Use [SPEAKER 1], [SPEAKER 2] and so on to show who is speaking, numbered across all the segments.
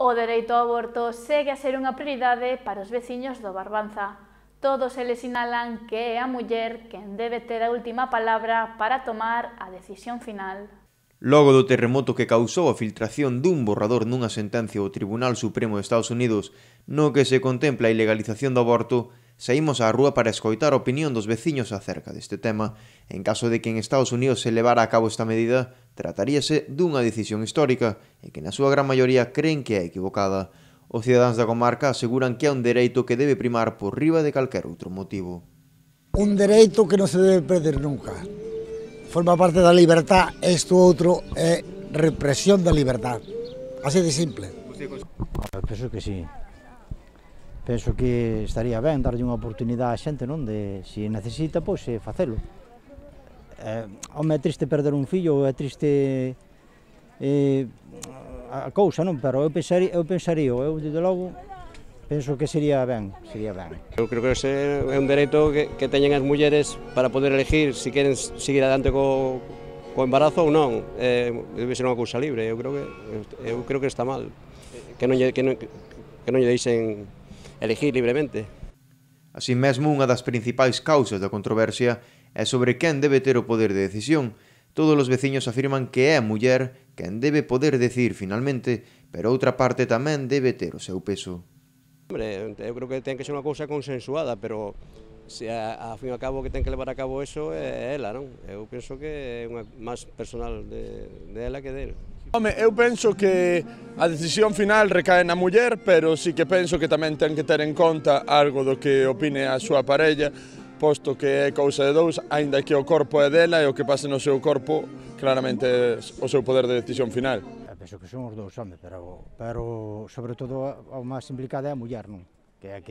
[SPEAKER 1] O dereito ao aborto segue a ser unha prioridade para os veciños do Barbanza. Todos eles sinalan que é a muller quen debe ter a última palabra para tomar a decisión final.
[SPEAKER 2] Logo do terremoto que causou a filtración dun borrador nunha sentencia do Tribunal Supremo de Estados Unidos no que se contempla a ilegalización do aborto, saímos á rúa para escoitar a opinión dos veciños acerca deste tema. En caso de que en Estados Unidos se levara a cabo esta medida, trataríase dunha decisión histórica e que na súa gran maioría creen que é equivocada. Os cidadáns da comarca aseguran que é un dereito que debe primar por riba de calquer outro motivo.
[SPEAKER 3] Un dereito que non se debe perder nunca. Forma parte da libertad, isto outro é represión da libertad. Así de simple.
[SPEAKER 4] Penso que sí. Penso que estaría ben darlle unha oportunidade á xente, non? De, se necesita, pois, facelo. Home, é triste perder un fillo, é triste a cousa, non? Pero eu pensaría, desde logo, penso que sería ben.
[SPEAKER 5] Eu creo que ese é un dereito que teñen as mulleres para poder elegir se queren seguir adiante co embarazo ou non. Debe ser unha cousa libre, eu creo que está mal, que non lle deixen elegir libremente.
[SPEAKER 2] Así mesmo, unha das principais causas da controversia é sobre quen debe ter o poder de decisión. Todos os veciños afirman que é a muller quen debe poder decir finalmente, pero outra parte tamén debe ter o seu peso.
[SPEAKER 5] Hombre, eu creo que ten que ser unha cousa consensuada, pero se a fin e ao cabo que ten que levar a cabo eso é ela, non? Eu penso que é unha máis personal de ela que dele.
[SPEAKER 6] Home, eu penso que a decisión final recae na muller, pero sí que penso que tamén ten que ter en conta algo do que opine a súa parella, posto que é cousa de dous, aínda que o corpo é dela e o que pase no seu corpo claramente é o seu poder de decisión final.
[SPEAKER 4] Penso que son os dous, home, pero sobre todo o máis implicada é a muller, non? Que é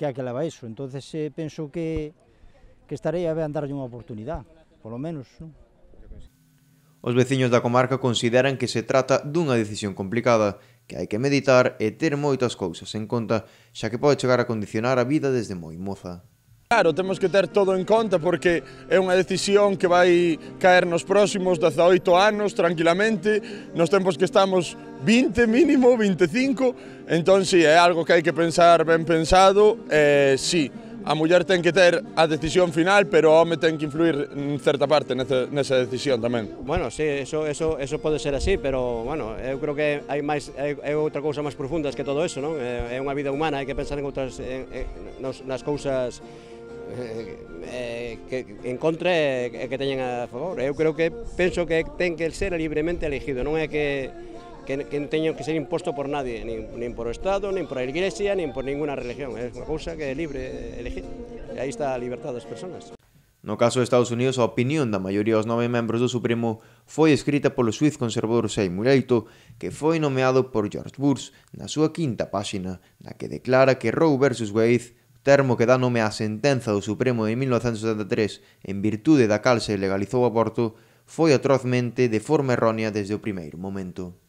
[SPEAKER 4] a que leva iso. Entonces penso que estaría ben darlle unha oportunidade, polo menos, non?
[SPEAKER 2] Os veciños da comarca consideran que se trata dunha decisión complicada, que hai que meditar e ter moitas cousas en conta, xa que pode chegar a condicionar a vida desde moi moza.
[SPEAKER 6] Claro, temos que ter todo en conta porque é unha decisión que vai caer nos próximos 18 anos tranquilamente, nos tempos que estamos 20 mínimo, 25, entón sí, é algo que hai que pensar ben pensado, sí, a muller ten que ter a decisión final, pero o home ten que influir en certa parte nesa decisión tamén.
[SPEAKER 5] Bueno, sí, eso pode ser así, pero, bueno, eu creo que hai outra cousa máis profundas que todo eso, non? É unha vida humana, hai que pensar en outras, nas cousas que en contra e que teñen a favor. Eu creo que penso que ten que ser libremente elegido, non é que teñen que ser imposto por nadie, nin por o Estado, nin por a Iglesia, nin por ninguna religión. É unha cousa que é libre elegir. E aí está a liberdade das persoas.
[SPEAKER 2] No caso de Estados Unidos, a opinión da maioría dos 9 membros do Supremo foi escrita polo xuiz conservador Seymour Alito, que foi nomeado por George Bush na súa 5ª páxina, na que declara que Roe vs. Wade, termo que dá nome á sentenza do Supremo de 1973 en virtude da cal se legalizou o aborto, foi atrozmente de forma errónea desde o primeiro momento.